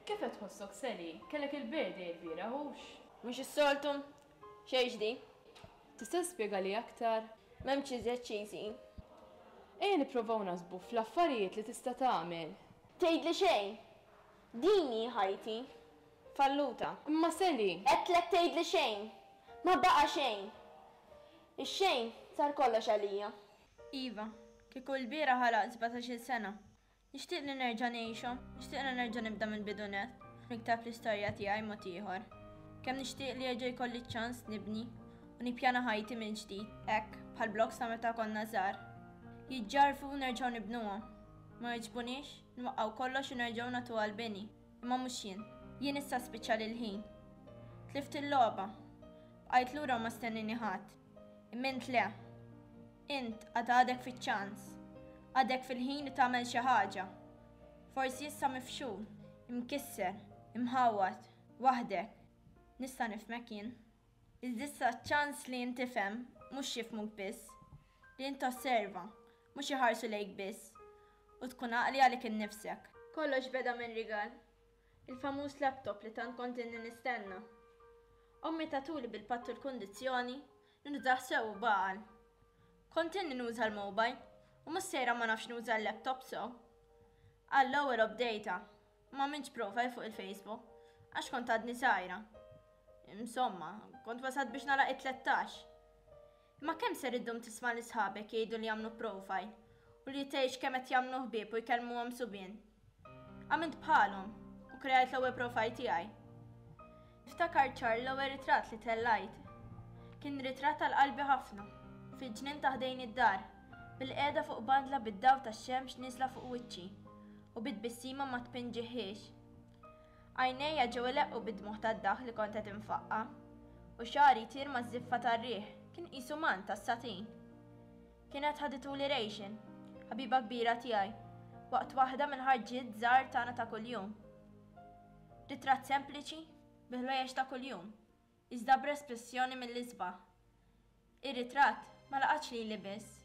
Kif qed tħossok Sally? Kellek il-birthday il-bieraħ hux? Mhux is-soltu? Xejn ġdid. Tista' tispjegali aktar? M'hemmx iżjed xi jsir. Ejja nipprovaw naħsbu fl-affarijiet li tista' tagħmel. Tgħidli xejn! Din hi ħajti. Falluta. Imma Sally! Għedtlek tgħidli xejn! Ma baqa' xejn! Ix-xejn sar kollox għalija. Iva, kieku l-bieraħ għalaqt sbatax-il sena, Nixtieq li nerġa' ngħixhom, nixtieq li nerġa' nibda mill-bidu nett, nikteb l-istorja tiegħi mod ieħor. Kemm nixtieq li jerġa' jkolli ċ-ċans nibni u nippjana ħajti mill-ġdid, hekk, bħall-blocks ta' meta konna żgħar. Jiġġarrfu u nerġgħu nibnuhom. Ma jogħġbuniex, nwaqqgħu kollox u nerġgħu nagħtuha l-bini. Imma mhux jien. Jien issa spiċċali l-ħin. Tlift il-logħba. Bqajt lura u ma stennini ħadd. Imma int le. Int għad għadek fiċ-ċans. Għadek fil-ħin li tagħmel xi ħaġa. Forsi issa mifxul, imkisser, imħawwad, waħdek. Nista' nifhmek jien. Iżda issa ċ-ċans li int tifhem, mhux jifhmuk biss. Li int tosserva, mhux iħarsu lejk biss. U tkun għaqli għalik innifsek. Kollox beda minn rigal. Il-famuż laptop li tant kont ilni nistenna. Ommi tatuli bil-patt u l-kundizzjoni li nużah sew u b'għaqal. Kont ilni nuża l-mobile u mhux sejra ma nafx nuża l-laptop sew. Għall-ewwel obdejtha u m'għamiltx profile fuq il-Facebook għax kont għadni żgħira. Insomma, kont wasalt biex nagħlaq it-tlettax. Imma kemm ser iddum tisma' lil sħabek jgħidu li għamlu profile u li tgħix kemm qed jagħmlu ħbieb u jkellmuhom subien? Għamilt bħalhom u kreajt l-ewwel profile tiegħi. Niftakar ċar l-ewwel ritratt li tellajt. Kien ritratt għal qalbi ħafna, fil-ġnien ta' ħdejn id-dar, bilqiegħda fuq bandla bid-dawl tax-xemx nieżla fuq wiċċi u bi tbissima ma tpinġihiex. Għajnejja ġew ileqqu bid-dmugħ tad-daħk li kont qed infaqqa', u xagħri jtir maż-żiffa tar-riħ, kien qisu mant tas-satin. Kienet ħadituli Rachel, ħabiba kbira tiegħi, waqt waħda mill-ħarġiet żgħar tagħna ta' kuljum. Ritratt sempliċi, bi ħwejjeġ ta' kuljum, iżda b'espressjoni mill-isbaħ. Ir-ritratt ma laqatx lili biss.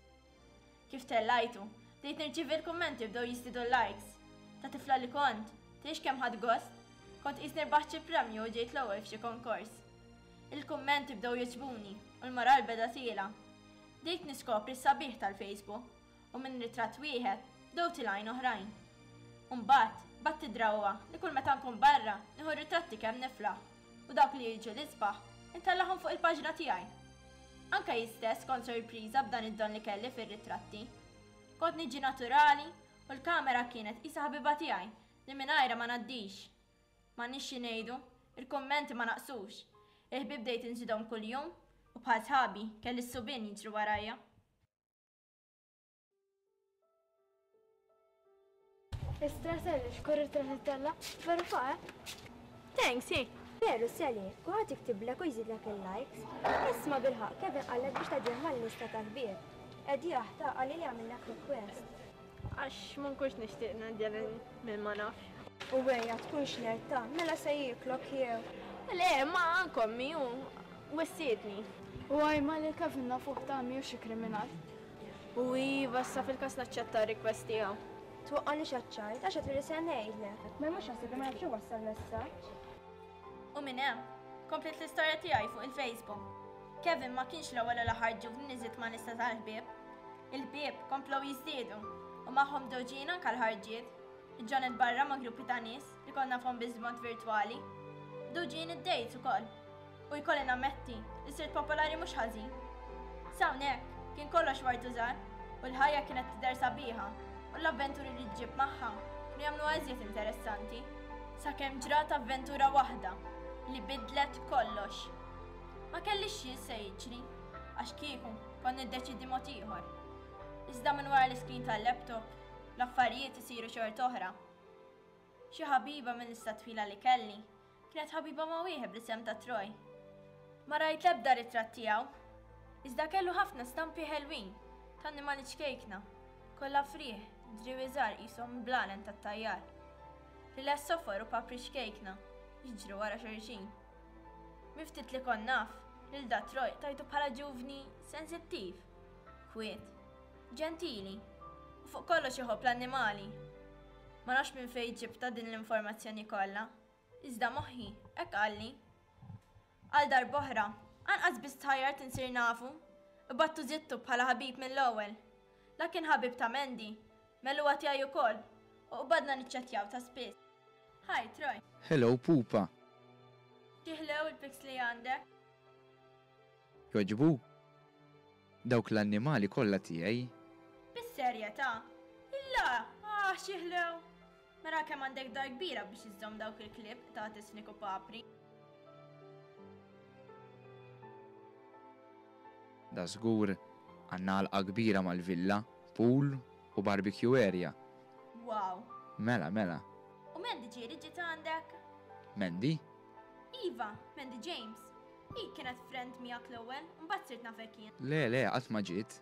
Kif tellajtu, bdejt nirċievi l-kummenti bdew jiżdiedu l-likes. Ta' tifla li kont, tgħix kemm ħadt gost, kont qisni rbaħt xi premju u ġejt l-ewwel f'xi konkors. Il-kummenti bdew jogħġbuni u l-moral beda tiela'. Bdejt niskopri s-sabiħ tal-Facebook u minn ritratt wieħed bdew tilgħin oħrajn. U mbagħad bgħadt id-drawwa li kull meta nkun barra nieħu ritratti kemm niflaħ u dawk li jiġu l-isbaħ intellagħhom fuq il-paġna tiegħi. Anke jien stess kont sorpriża b'dan id-don li kelli fir-ritratti. Kont niġi naturali u l-kamera kienet qisha ħabiba tiegħi li mingħajrha ma ngħaddix. M'għandniex xi ngħidu, il-kummenti ma naqsux. Il-ħbieb bdejt inżidhom kuljum u bħal sħabi kelli s-subien jiġru warajja. Istra Sally, x'kull ritratt ittella'? Veru fa, eh? Thanks, hi. Veru Sally, kulħadd jiktiblek u jżidlek il-likes. Isma' bilħaqq, Kevin qallek biex tgħaddih mal-lista tal-ħbieb. Għedjah, ta, qalli li għamillek request. Għax ma nkunx nixtieq ngħaddi lil min ma nafx. U ejja tkunx nerd ta, mela se jieklok jew. Le, ma anke ommi u wissietni. U ajma lil Kevin nafuh ta, mhijiex xi kriminal. U iva issa fil-każ naċċetta r-request tiegħu. Twaqqagħnix għaċ-ċajt għax għedtlu li se ngħidlek. Ma mhux jaħseb li ma nafx iwassal messaġġ. U minn hemm, kompliet l-istorja tiegħi fuq il-Facebook. Kevin ma kienx l-ewwel u l-aħħar ġuvni li żidt ma' lista tal-ħbieb. Il-ħbieb komplew jiżdiedu u magħhom bdew ġejjin anke l-ħarġiet. Ġġonet barra ma' gruppi ta' nies li kont nafhom biss b'mod virtwali. Bdew ġejjin id-dates ukoll. U jkolli nammetti li sirt popolari mhux ħażin. S'hawnhekk, kien kollox ward u żgħar u l-ħajja kienet tidher sabiħa u l-avventuri li ġġib magħha kienu jagħmluha iżjed interessanti. Sakemm ġrat avventura waħda li bidlet kollox. Ma kellix xi se jiġri, għax kieku kont niddeċiedi mod ieħor. Iżda minn wara l-iskrin tal-laptop, l-affarijiet isiru xort'oħra. Xi ħabiba mil-lista twila li kelli Kienet ħabiba ma' wieħed bl-isem ta' Troy. Ma rajt l-ebda ritratt tiegħu, iżda kellu ħafna stampi ħelwin ta' annimali ċkejkna, kollha frieħ, driewi żgħar qishom blalen tat-tajjar. Rilles sofor u papri ċkejkna jiġru wara xulxin. Minn ftit li kont naf, lil da Troy tajtu bħala ġuvni sensittiv, kwiet, ġentili u fuq kollox iħobb l-annimali. Ma nafx minn fejn ġibtha din l-informazzjoni kollha. Iżda moħħi hekk qalli. Għal darb'oħra, anqas biss tħajjart insir nafu. Qbadtu żidtu bħala ħabib mill-ewwel. La kien ħabib ta' Mandy, mela huwa tiegħi ukoll, u qbadna niċċettjaw ta' spiss. Hi, Troy. Hello, Pupa. Xi ħlew il-pics li għandek. Jogħġbuk? Dawk l-annimali kollha tiegħi. Bis-serjetà? Illa! Ah, xi ħlew! Mela kemm għandek dar kbira biex iżżomm dawk il-klieb, qtates, fnik u papri. Da żgur, għandna għalqa kbira mal-villa, pool u barbecue area. Wow! Mela, mela. U Mandy ġieli ġiet għandek? Mandy? Iva, Mandy James. Hi kienet friend miegħek l-ewwel, mbagħad sirt nafek jien. Le, le, qatt ma ġiet.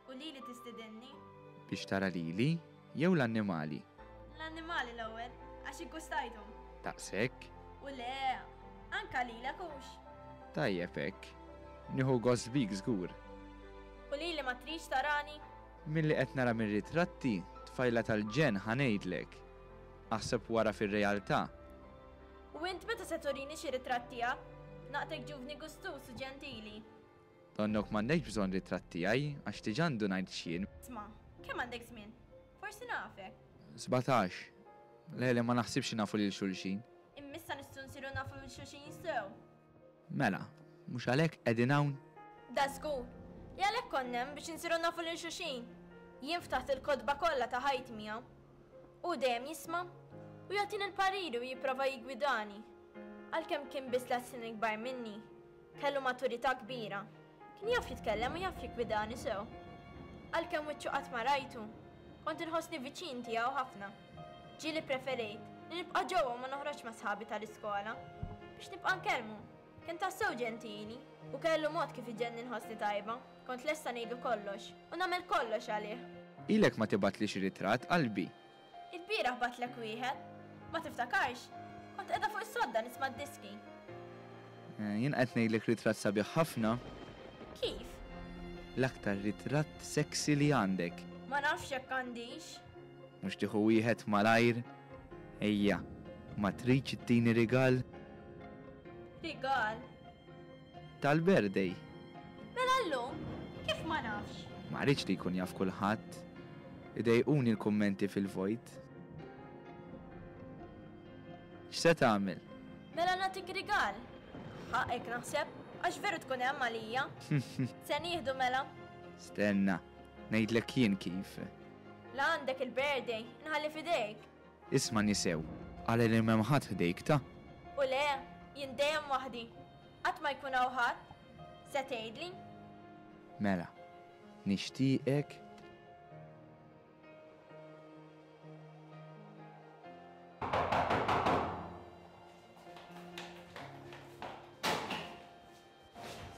U lili tistidinni? Biex tara lili jew l-annimali? L-annimali l-ewwel, għax iggustajthom. Daqshekk? U le, anka lilek hux. Tajjeb hekk. Nieħu gost bik żgur. U lili ma tridx tarani? Milli qed nara mir-ritratti, tfajla tal-ġenn ħa ngħidlek. Aħseb wara fir-realtà. U int meta se turini xi ritratt tiegħek? Naqtek ġuvni gustuż u ġentili. Donnok m'għandekx bżonn ritratt tiegħi għax diġà ndunajt x'jien. Isma', kemm għandek żmien? Forsi nafek. 17. Le, le, ma naħsibx li nafu lil xulxin. Imma issa nistgħu nsiru nafu lil xulxin sew. Mela, mhux għalhekk qegħdin hawn? Da żgur, li għalhekk konna hemm biex insiru nafu lil xulxin. Jien ftaħt il-kotba kollha ta' ħajti miegħu. Hu dejjem jisma' u jagħtini l-pariri u jipprova jiggwidani. Għalkemm kien biss tliet snin ikbar minni, kellu maturità kbira. Kien jaf jitkellem u jaf jiggwidani sew. Għalkemm wiċċu qatt ma rajtu, kont inħossni viċin tiegħu ħafna. Ġieli ppreferejt li nibqa' ġewwa u ma noħroġx ma' sħabi tal-iskola biex nibqa' nkellmu. Kien tassew ġentili u kellu mod kif iġegħelni nħossni tajba. Kont lesta ngħidlu kollox u nagħmel kollox għalih. Ilek ma tibgħatli xi ritratt, qalbi. Ilbieraħ bgħattlek wieħed. Ma tiftakarx? Kont qiegħda fuq is-sodda nisma' d-diski. Jien qed ngħidlek ritratt sabiħ ħafna. Kif? L-aktar ritratt sexy li għandek. Ma nafx jekk għandix. Mhux tieħu wieħed malajr? Ejja, ma tridx ittini rigal? Rigal? Tal-birthday. Mela llum? Kif ma nafx? Ma rridx li jkun jaf kulħadd. Idejquni l-kummenti fil-vojt. X'se tagħmel? Mela nagħtik rigal. Ħaqqek naħseb, għax veru tkun hemm għalija. Se nieħdu mela? Stenna, ngħidlek jien kif. La għandek il-birthday, inħalli f'idejk. Ismagħni sew, ara li m'hemm ħadd ħdejk ta'. U le, jien dejjem waħdi. Qatt ma jkun hawn ħadd. Se tgħidli? Mela, nixtieqek.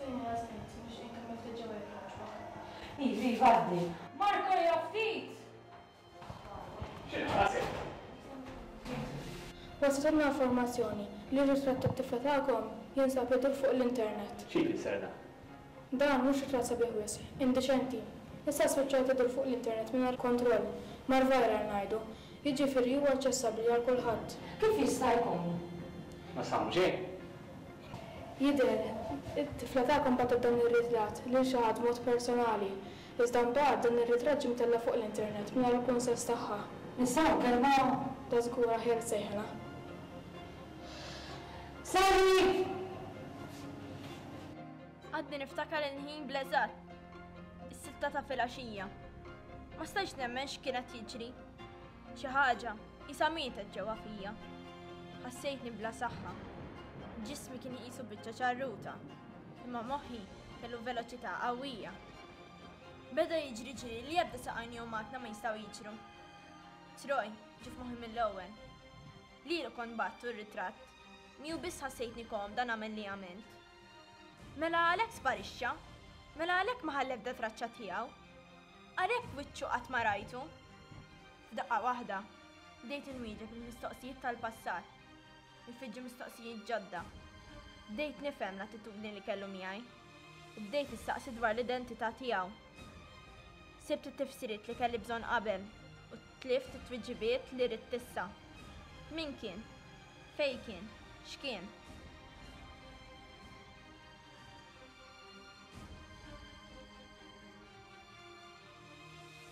Sinjora Smith, nixtieq inkellmek ftit ġewwa jekk jogħġbok. Iva, iva, għaddi. Marco ejja ftit! Waslitna informazzjoni li r-ritratt tat-tifla tagħkom jinsab idur fuq l-internet. Xi jfisser dan? Dan mhux ritratt sabiħ wisq, indiċenti. Issa spiċċat idur fuq l-internet mingħajr kontroll, mar viral ngħidu. Jiġifieri huwa aċċessabbli għal kulħadd. Kif jista' jkun? Ma samu xejn. Jidher, it-tifla tagħkom bagħtet dan ir-ritratt lil xi ħadd b'mod personali. Iżda mbagħad dan ir-ritratt ġie mtella' fuq l-internet mingħajr il-kunsens tagħha. Nistgħu nkellmuha? Da żgur aħjar tsejħilha. Sally! Għadni niftakar il-ħin bl-eżatt. Is-sitta ta' filgħaxija. Ma stajtx nemmen x'kien qed jiġri. Xi ħaġa qisha mietet ġewwa fija. Ħassejtni bla saħħa. Ġismi kien qisu biċċa ċarruta, imma moħħi kellu veloċità qawwija. Beda jiġri ġiri li ebda saqajn jew makna ma jistgħu jiġru. Troy ġie f'moħħi mill-ewwel. Lilu kont bgħattu r-ritratt. Miegħu biss ħassejtni komda nagħmel li għamilt. Mela għalhekk sparixxa? Mela għalhekk ma ħalla ebda traċċa tiegħu? Għalhekk wiċċu qatt ma rajtu? F'daqqa waħda, bdejt inwieġeb il-mistoqsijiet tal-passat. Ifiġġu mistoqsijiet ġodda. Bdejt nifhem l-attitudni li kellu miegħi u bdejt nistaqsi dwar l-identità tiegħu. Sibt it-tifsiriet li kelli bżonn qabel u. Tlift it-tweġibiet li ridt issa. Min kien? Fejn kien? X'kien?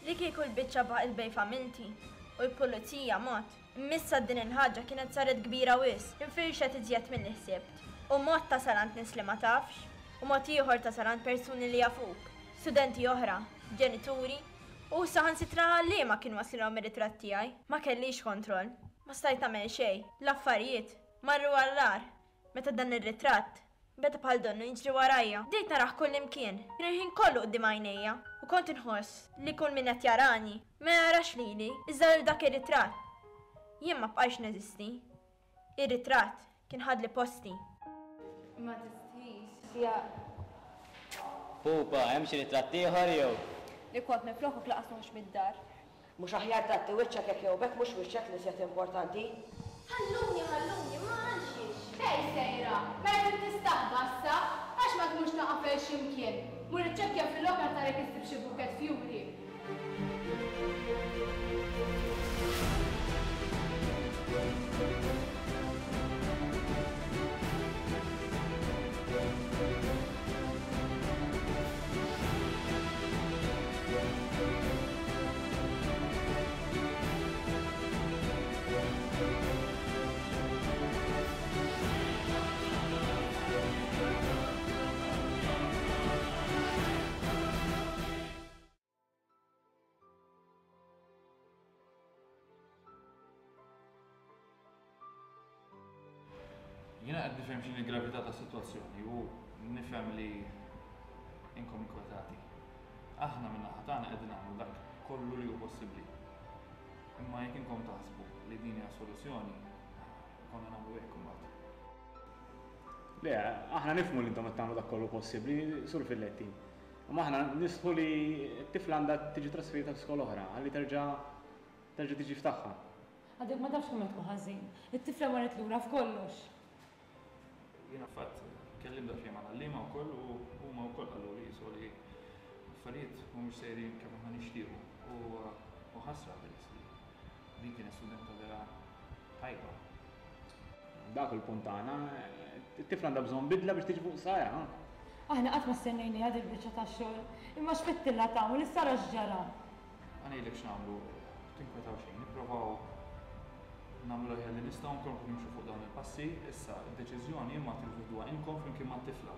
Li kieku l-biċċa baqgħet bejn familti u l-pulizija mod, imma issa din il-ħaġa kienet saret kbira wisq, infirxet iżjed milli ħsibt. U mod tasal għand nies li ma tafx, u mod ieħor tasal għand persuni li jafuk, studenti oħra, ġenituri, u saħansitra għalliema kien waslilhom ir-ritratt tiegħi. Ma kellix kontroll. Ma stajt nagħmel xejn. L-affarijiet marru għall-agħar meta dan ir-ritratt beda bħal donnu jiġri warajja. Bdejt narah kullimkien, kien il-ħin kollu quddiem għajnejja u kont inħoss li kull min qed jarani ma jarax lili iżda lil dak ir-ritratt. Jien ma bqajtx neżisti. Ir-ritratt kien ħadli posti. Ma tistħix, ja. Pupa, hemm xi ritratt ieħor jew? Li kont minflokok lanqas noħroġ mid-dar. Mhux aħjar tgħatti wiċċek hekk jew b'hekk mhux wiċċek l-iżjed importanti? Ħalluni, ħalluni, ma għalxiex. Fejn sejra? Mela trid tistaħba issa? Għax ma tmurx taqafel xi mkien? Mur iċċekkja fil-lokal tara jekk issib xi bukkett fjuri. Jiena qed nifhem x'inhi l-gravità tas-sitwazzjoni u nifhem li inkom inkwetati. Aħna min-naħa tagħna qegħdin nagħmlu dak kollu li hu possibbli. Imma jekk inkom taħsbu li din hija soluzzjoni, konna nagħmlu hekk imbagħad. Le, aħna nifhmu li intom qed tagħmlu dak kollu possibbli, Sur Filletti. Imma aħna nistħu li t-tifla għandha tiġi trasferita f'skola oħra ħalli terġa' terġa' tiġi f'tagħha. Għadek ma tafx kemm qed tkun ħażin. It-tifla marret lura f'kollox. Jiena fatt kellimt daqsxejn mal-għalliema wkoll u huma wkoll qaluli qisu li l-affarijiet mhumiex sejrin kif aħna nixtiequ u ħasra peress li din kienet studenta vera tajba. Dak il-punt tagħna, it-tifla għandha bżonn bidla biex tiġi fuq saqajha. Aħna qatt ma stennejniha dil-biċċa tax-xogħol, imma x'fittilha tagħmel issa ara x'ġara. Ħa ngħidlek x'nagħmlu, tinkwetaw xejn, nipprovaw nagħmlu l-aħjar li nistgħu nkomplu nimxu fuq dawn il-passi, issa d-deċiżjoni imma tridu teħduha inkom flimkien mat-tifla.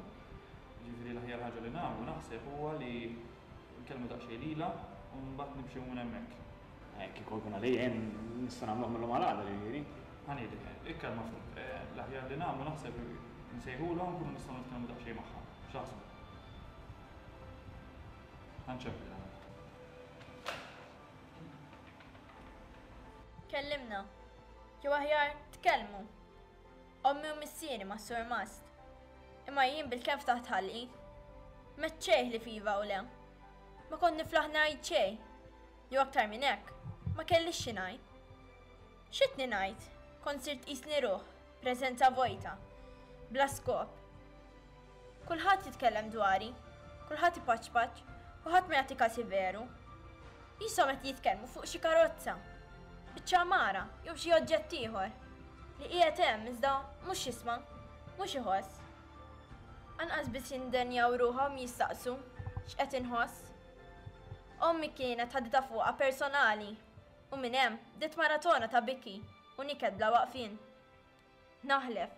Jiġifieri l-aħjar ħaġa li nagħmlu naħseb huwa li nkellmu daqsxejn lilha u mbagħad nimxu minn hemmhekk. Kieku jkun għalija jien nista' nagħmluh mil-lum għal għada jiġifieri. Ħa ngħidlek, ikkalma ftit. L-aħjar li nagħmlu naħseb insejħulha u nkunu nistgħu nitkellmu daqsxejn magħha. X'taħsbu? Ħa nċempilha mela. Kellimna. Jew aħjar, tkellmu. Ommi u missieri mas-surmast. Imma jien bilkemm ftaħt ħalqi. M'għedt xejn ħlief iva u le. Ma kont niflaħ ngħid xejn. Jew aktar minn hekk, ma kellix xi ngħid. X'qedni ngħid? Kont sirt qisni ruħ, preżenza vojta, bla skop. Kulħadd jitkellem dwari, kulħadd ipaċpaċ u ħadd ma jagħti kasi veru. Qishom qed jitkellmu fuq xi karozza, biċċa għamara jew xi oġġett ieħor li qiegħed hemm iżda mhux jisma', mhux iħoss. Anqas biss jindenjaw ruħhom jistaqsu x'qed inħoss. Ommi kienet ħaditha fuqha personali u minn hemm bdiet maratona ta' biki u niket bla waqfien. Naħlef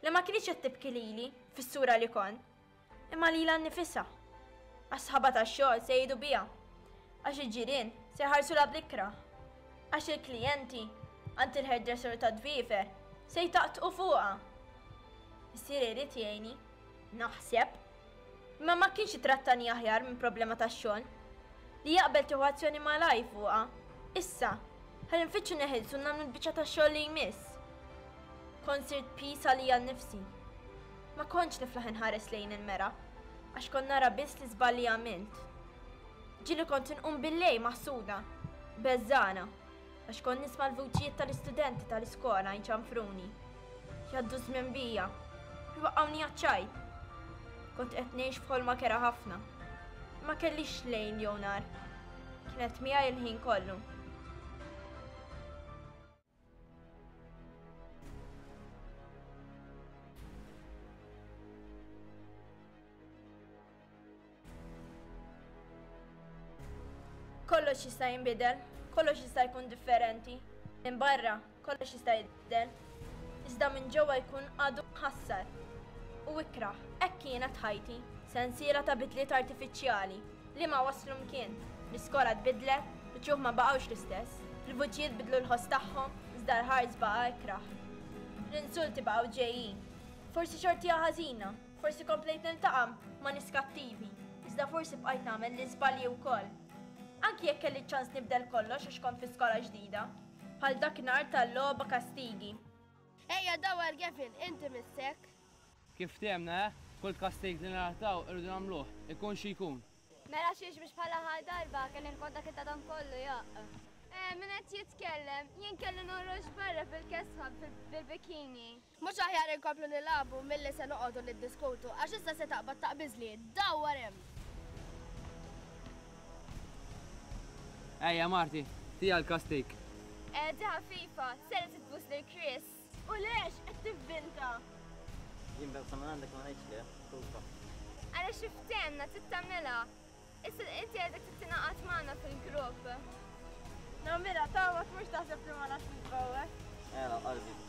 li ma kinitx qed tibki lili fis-sura li kont, imma lilha nnifisha. Għax sħabha tax-xogħol se jgħidu biha. Għax il-ġirien se jħarsulha bl-ikrah. Għax il-klijenti għand il-hairdresser tad-dwiefer se jtaqtqu fuqha. Missieri jrid jgħinni, naħseb. Imma ma kienx ittrattani aħjar minn problema tax-xogħol. Li jaqbel tieħu azzjoni malajr fuqha. Issa, ħalli nfittxu neħilsu nagħmlu l-biċċa tax-xogħol li jmiss. Kont sirt piż għalija nnifsi. Ma kontx niflaħ inħares lejn il-mera, għax kont nara biss l-iżball li għamilt. Ġieli kont inqum bil-lejl maħsuda, beżgħana, għax kont nisma' l-vuċijiet tal-istudenti tal-iskola jċanfruni. Jgħaddu żmien bija, jwaqqgħuni għaċ-ċajt. Kont qed ngħix f'ħolma kerha ħafna. Ma kellix lejl jew nhar. Kienet miegħi l-ħin kollu. Kollox jista' jinbidel, kollox jista' jkun differenti. Minn barra, kollox jista' jidher, iżda minn ġewwa jkun għadu mħassar u ikrah. Hekk kienet ħajti, sensiela ta' bidliet artifiċjali li ma wasslu mkien. L-iskola tbiddlet, l-uċuħ ma baqgħux l-istess, il-vuċijiet bidlu l-ħoss tagħhom, iżda l-ħars baqa' ikrah. L-insulti baqgħu ġejjin. Forsi xortija ħażina, forsi komplejt niltaqa' ma' nies kattivi, iżda forsi bqajt nagħmel l-iżbalji wkoll. Anki jekk kelli ċ-ċans nibdel kollox għax kont fi skola ġdida. Bħal dakinhar tal-logħba kastigi. Ejja dawwar Gavin, inti missek. Kif ftehemna, eh? Kull kastig li ningħataw irridu nagħmluh, ikun xi jkun. Mela xiex biex bħal aħħar darba kelli nkun dak it-tadam kollu jaqq. Eh, min qed jitkellem? Jien kelli noħroġ barra fil-kesħa bil-bikini. Mhux aħjar inkomplu nilagħbu milli se noqogħdu niddiskutu għax issa se taqbad taqbiżli. Dawwar hemm! Ejja Marty, tija l-kastig. Eh, di ħafifa, ser titbus lil Chris. U lex qed tivvinta? Jien bewsa minn għandek ma ngħidx le, skuża. Għaliex iftehemna trid tagħmilha. Issa inti għadek trid tingħaqad magħna fil-grupp. Nagħmilha ta' ma tmurx taħseb li ma nafx nitbewwes. Ela, qalbi.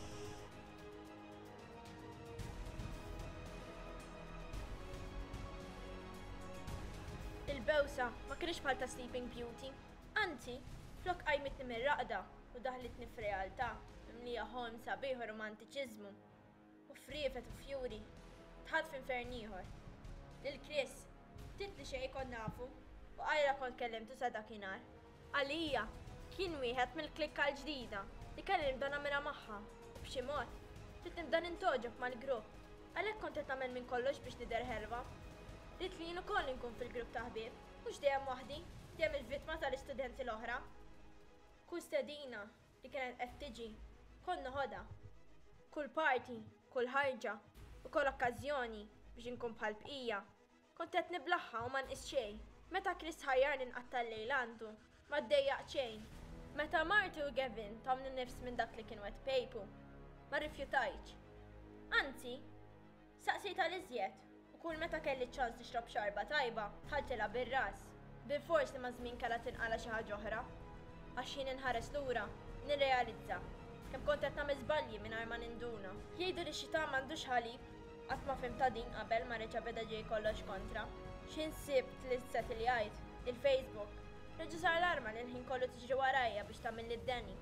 Il-bewsa ma kinitx bħal ta' Sleeping Beauty. Anzi, flok qajmitni mir-raqda u daħlitni f'realtà mimlija ħolm sabiħ u romantiċiżmu. U friefet u fjuri, dħalt f'infern ieħor. Lil Chris, ftit li xejn kont nafu u qajla kont kellimtu sa dakinhar. Għalija, kien wieħed mill-klikka l-ġdida li kelli nibda nagħmilha magħha u b'xi mod, ridt nibda nintgħoġob mal-grupp. Għalhekk kont qed nagħmel minn kollox biex nidher ħelwa. Ridt li jien ukoll inkun fil-grupp ta' ħbieb, mhux dejjem waħdi, dejjem il-vittma tal-istudenti l-oħra. Kull stedina li kienet qed tiġi, kont noħodha. Kull party, kull ħarġa u kull okkażjoni biex inkun bħall-bqija, kont qed niblagħha u ma nqis xejn. Meta Chris ħajjarni nqatta' l-lejl għandu, ma ddejjaqt xejn. Meta marti u Gavin tawni nifs minn dak li kienu qed ipejpu, ma rrifjutajtx. Anzi, Saqsejt għal iżjed, u kull meta kelli ċ-ċans nixrob xarba tajba, dħaltilha bir-ras. Bilfors li maż-żmien kellha tinqala' xi ħaġa oħra. Għax x'ħin inħares lura, nirrealizza kemm kont qed nagħmel żbalji mingħajr ma ninduna. Jgħidu li x-xitan m'għandux ħalib, qatt ma fhimtha din qabel ma reġa' beda ġej kollox kontra. X'ħin sibt li ssetiljajt, il-Facebook, reġa' sar l-arma li l-ħin kollu tiġri warajja biex tagħmilli d-deni.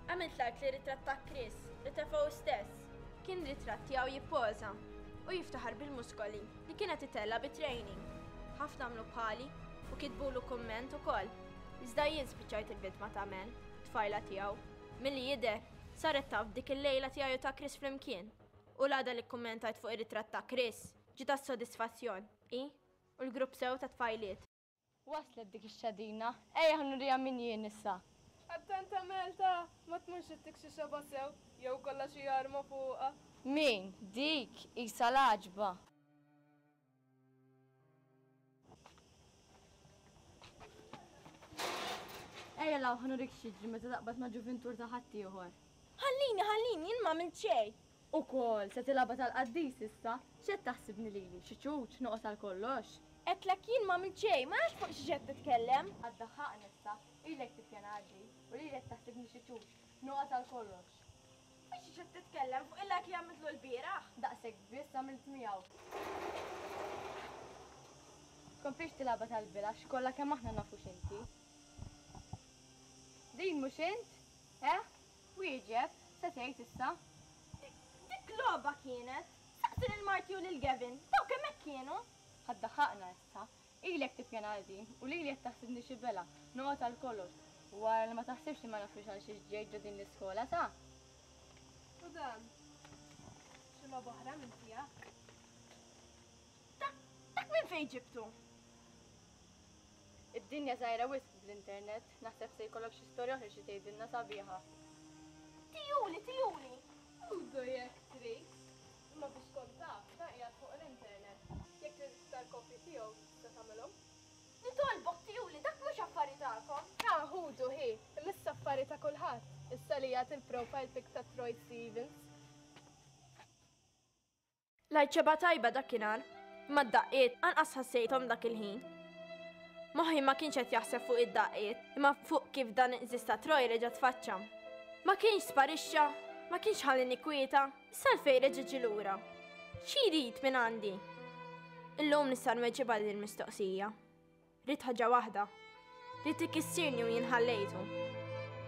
Għamilt like li ritratt ta' Chris li tefgħu hu stess. Kien ritratt tiegħu jippoża u jiftaħar bil-muskoli li kien qed itella' bit-training. Ħafna għamlu bħali u kitbulu kumment ukoll. Iżda jien spiċċajt il-vittma ta' Mel, tfajla tiegħu. Milli jidher, saret taf b'dik il-lejla tiegħi u ta' Chris flimkien. U l-għada li kkummentajt fuq ir-ritratt ta' Chris, ġiet għas-sodisfazzjon, hi u l-grupp sew ta' tfajliet. Waslet dik ix-xadina. Ejja ħa nuriha min jien issa. Attenta Melta, ma tmurx ittik xi xebgħa sew, jew ikollha xi arma fuqha. Min? Dik? Qisha l-għaġba. Ejja 'l hawn ħa nurik x'jiġri meta taqbad ma' ġuvintur ta' ħaddieħor. Ħallini, ħallini, jien m'għamilt xejn. Ukoll, se tilgħabha tal-qaddis issa? X'qed taħsibni lili, xi ċuċ, noqgħod għal kollox? Għedtlek jien m'għamilt xejn, ma nafx fuq xiex qed titkellem. Ħa ddaħħaqni issa, ilek tippjana għal din, u lili qed taħsibni xi ċuċ, noqgħod għal kollox. Fuq xiex qed titkellem, fuq il-like li għamiltlu lbieraħ? Daqshekk biss għamilt miegħu. Tkomplix tilgħabha tal-bila għax kollha kemm aħna nafu x'inti. Din mhux int? Eh? Wieġeb, se tgħid issa? Dik logħba kienet! Saqsi lil Marty u lil Gavin, dawk hemmhekk kienu! Ħa ddaħħaqna issa. Ilek tippjana għal din, u lili qed taħsibni xi belha, noqgħod għal kollox. U ara li ma taħsibx li ma nafux għal xiex ġejt ġo din l-iskola, sa? U dan? Xi logħba oħra minn tiegħek? Dak, dak minn fejn ġibtu? Id-dinja żgħira wisq bl-internet, naħseb se jkollok xi storja oħra xi tgħidilna sabiħa. Tijuli, tijuli! Użu jekk trid. Imma biex tkun taf, dan qiegħed fuq l-internet. Jekk trid iktar kopji tiegħu tista' tagħmilhom. Nitolbok tijuli, dak mhux affari tagħkom. Ha, ħudu hi, imma issa affari ta' kulħadd, issa li qiegħed il-profile pic ta' Troy Stevens. Lajt xebgħa tajba dakinhar, imma d-daqqiet anqas ħassejthom dak il-ħin. Moħħi ma kienx qed jaħseb fuq id-daqqiet, imma fuq kif dan iqżiż ta' Troy reġa' tfaċċa. Ma kienx sparixxa, ma kienx ħallini kwieta, issa għalfejn reġa' ġie lura? Xi jrid minn għandi? Illum nista' nweġibha din il-mistoqsija. Ridt ħaġa waħda. Ridt ikissirni u jien ħallejtu.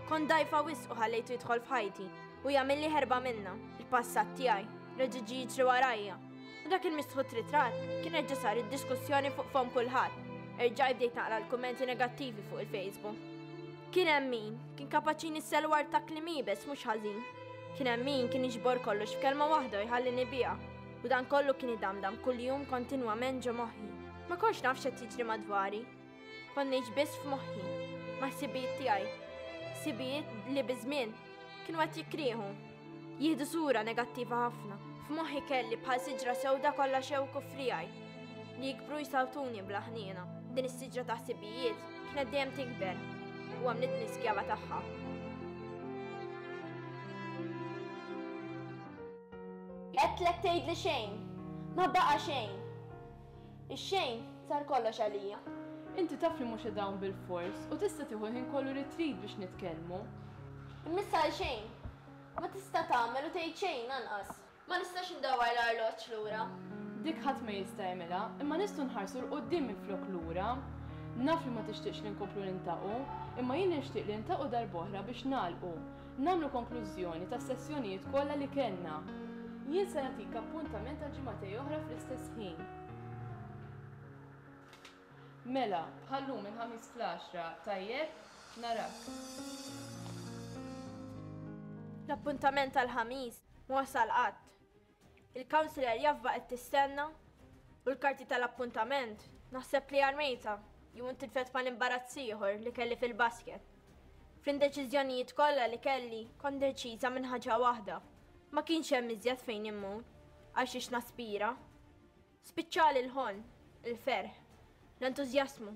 Kont dgħajfa wisq u ħallejtu jidħol f'ħajti u jagħmilli ħerba minnha, il-passat tiegħi, reġa' ġie jiġri warajja. U dak il-mistħut ritratt kien reġa' sar id-diskussjoni fuq fomm kulħadd. Erġajt bdejt naqra l-kummenti negattivi fuq il-Facebook. Kien hemm min kien kapaċi jnissel ward ta' kliem iebes mhux ħażin. Kien hemm min kien jiġbor kollox f'kelma waħda u jħallini biha. U dan kollu kien idamdam kuljum kontinwament ġo moħħi. Ma kontx naf x'qed jiġri madwari. Kont ngħix biss f'moħħi, ma' ħsibijiet tiegħi. Ħsibijiet li biż-żmien kienu qed jikrieħu. Jieħdu sura negattiva ħafna. F'moħħi kelli bħal siġra sewda kollha xewk u friegħi li jikbru jsawtuni bla ħniena. Din is-siġra ta' ħsibijiet kienet dejjem tikber u għamlitni skjava tagħha. Għedtlek tgħidli xejn. Ma baqa' xejn. Ix-xejn sar kollox għalija. Inti taf li mhux qed hawn bilfors u tista' tieħu l-ħin kollu li trid biex nitkellmu. Imma issa għalxejn. Ma tista' tagħmel u tgħid xejn anqas. Ma nistax indawwar l-arloġġ lura. Dik ħadd ma jista' jagħmilha, imma nistgħu nħarsu 'l quddiem minflok lura. Naf li ma tixtieqx li nkomplu niltaqgħu, imma jien nixtieq li niltaqgħu darb'oħra biex nagħlqu. Nagħmlu konklużjoni tas-sessjonijiet kollha li kellna. Jien se nagħtik appuntament għal ġimagħtej oħra fl-istess ħin. Mela, bħal-lum il-Ħamis fl-għaxra, tajjeb? Narak. L-appuntament tal-Ħamis ma wasal qatt. Il-counsellor jaf baqgħet tistenna u l-karti tal-appuntament naħseb li armejtha jew intilfet mal-imbarazz ieħor li kelli fil-basket. Fl-indeċiżjonijiet kollha li kelli kont deċiża minn ħaġa waħda. Ma kienx hemm iżjed fejn immur, għal xiex naspira. Spiċċali l-ħolm, il-ferħ, l-entużjasmu.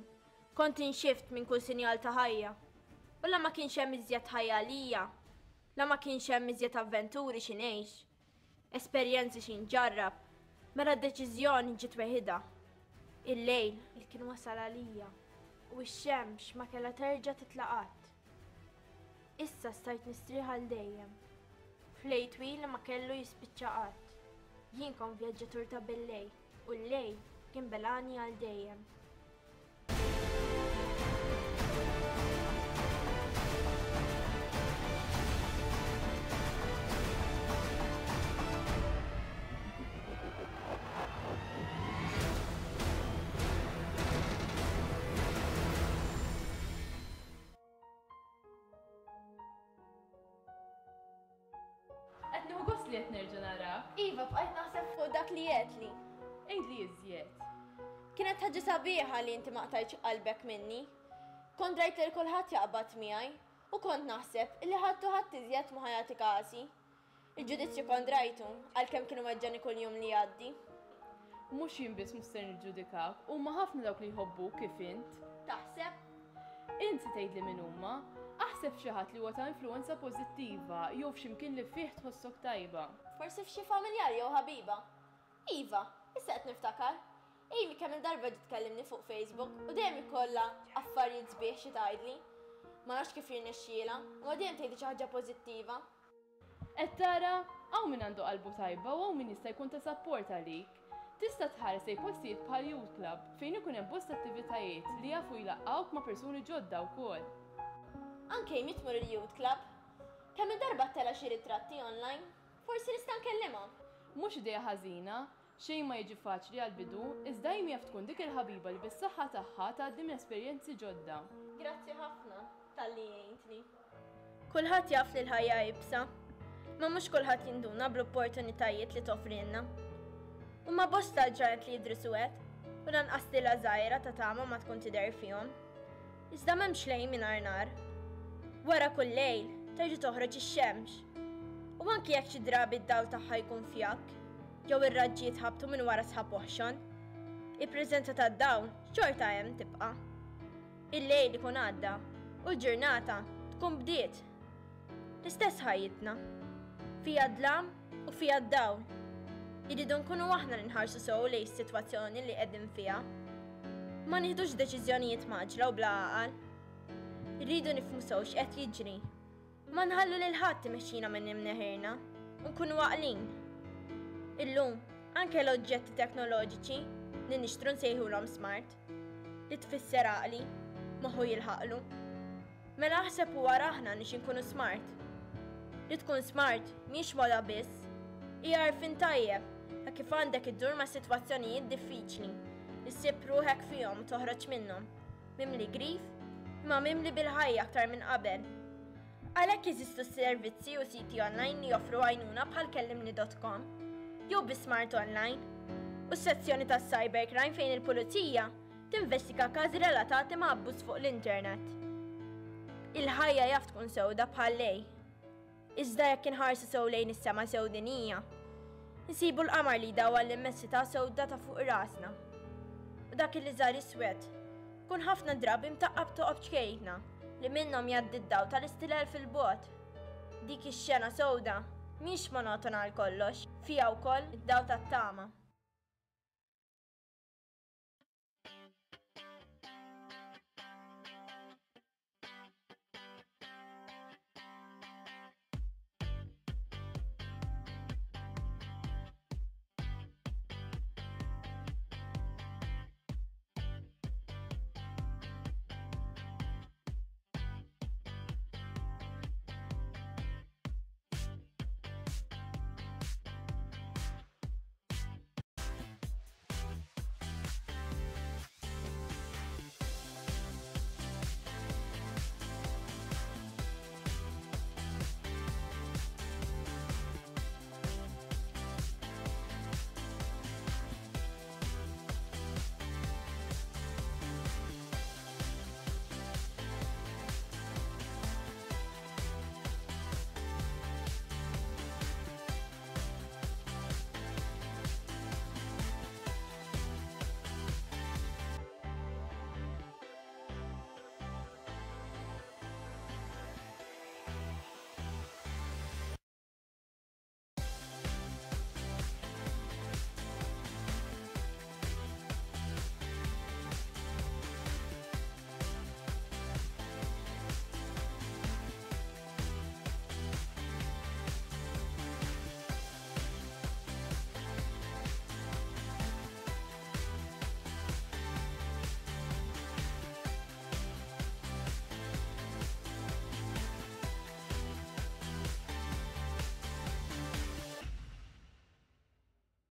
Kont inxift minn kull sinjal ta' ħajja. U la ma kienx hemm iżjed ħajja għalija, la ma kienx hemm iżjed avventuri xi ngħix, esperjenzi xi nġarrab, mela d-deċiżjoni ġiet weħidha. Il-lejl li kien wasal għalija u x-xemx ma kellha terġa' titla' qatt. Issa stajt nistrieħ għal dejjem. F'lejl twil li ma kellu jispiċċa qatt. Jien kont vjaġġatur ta' bil-lejl u l-lejl kien belagħni għal dejjem. Qed nieħu gost li qed nerġa' narak. Iva, bqajt naħseb fuq dak li għedtli. Għidli iżjed. Kienet ħaġa sabiħa li inti ma qtajtx qalbek minni. Kont rajt lil kulħadd jaqbad miegħi u kont naħseb li ħadd u ħadd iżjed ma ħa jagħti kasi. Il-ġudizzju kont rajtu, għalkemm kien iweġġani kull jum li jgħaddi. Mhux jien biss mhux ser niġġudikak, huma ħafna dawk li jħobbuk kif int. Taħseb? Int se tgħidli min huma. Aħseb f'xi ħadd li huwa ta' influwenza pożittiva jew f'xi mkien li fih tħossok tajba. Forsi f'xi familjari jew ħabiba. Iva, issa qed niftakar. Amy kemm-il darba ġiet tkellimni fuq Facebook u dejjem ikollha affarijiet sbieħ xi tgħidli. Ma nafx kif jirnexxielha, imma dejjem tgħidli xi ħaġa pożittiva. Qed tara? Hawn min għandu qalbu tajba u hawn min jista' jkun ta' sapport għalik. Tista' tħares lejn postijiet bħal Youth Club, fejn ikun hemm bosta attivitajiet li jafu jlaqqgħuk ma' persuni ġodda wkoll. Anke Amy tmur il-Youth Club. Kemm-il darba ttella' xi ritratti online. Forsi nista' nkellimha. Mhux idea ħażina. Xejn ma jiġi faċli għall-bidu, iżda Amy jaf tkun dik il-ħabiba li bis-saħħa tagħha tgħaddi minn esperjenzi ġodda. Grazzi ħafna talli għintni. Kulħadd jaf li l-ħajja iebsa, imma mhux kulħadd jinduna bl-opportunitajiet li toffrilna. Huma bosta l-ġranet li jidhru suwed u lanqas tila żgħira ta' tama ma tkun tidher fihom. Iżda m'hemmx lejl mingħajr nar. Wara kull lejl terġa' toħroġ ix-xemx. U anki jekk xi drabi d-dawl tagħha jkun fjakk, jew ir-raġġi jitħabtu minn wara sħab oħxon, il-preżenza tad-dawl xorta hemm tibqa'. Il-lejl ikun għadda u l-ġurnata tkun bdiet. L-istess ħajjitna. Fiha d-dlam u fiha d-dawl. Irridu nkunu aħna li nħarsu sew lejn is-sitwazzjoni li qegħdin fiha. Ma nieħdux deċiżjonijiet mgħaġġla u bla għaqal. Irridu nifhmu sew x'qed jiġri. Ma nħallu lil ħadd imexxina minn imneħirna u nkunu għaqlin. Illum, anke l-oġġetti teknoloġiċi li nixtru nsejħulhom smart, li tfisser għaqli, moħħu jilħaqlu. Mela aħseb u ara aħna nix inkunu smart. Li tkun smart mhix moda biss, hija għarfien tajjeb ta' kif għandek iddur ma' sitwazzjonijiet diffiċli li ssib ruħek fihom u toħroġ minnhom. Mimli grif, imma mimli bil-ħajja aktar minn qabel. Għalhekk jeżistu servizzi u siti online li joffru għajnuna bħal kellimni.com jew bi Smart Online u s-sezzjoni tas-cybercrime fejn il-pulizija tinvestiga każi relatati ma' abbuż fuq l-internet. Il-ħajja jaf tkun sewda bħal lej. Iżda jekk inħarsu sew lejn is-sema sewdinija, insibu l-qamar li jdawwal l-immensità sewda ta' fuq rasna. U dak li żar iswed, ikun ħafna drabi mtaqqab toqob ċkejkna li minnhom jgħaddi d-dawl tal-istilel fil-bogħod. Dik ix-xena sewda mhix monotona għal kollox, fiha wkoll id-dawl tat-tama.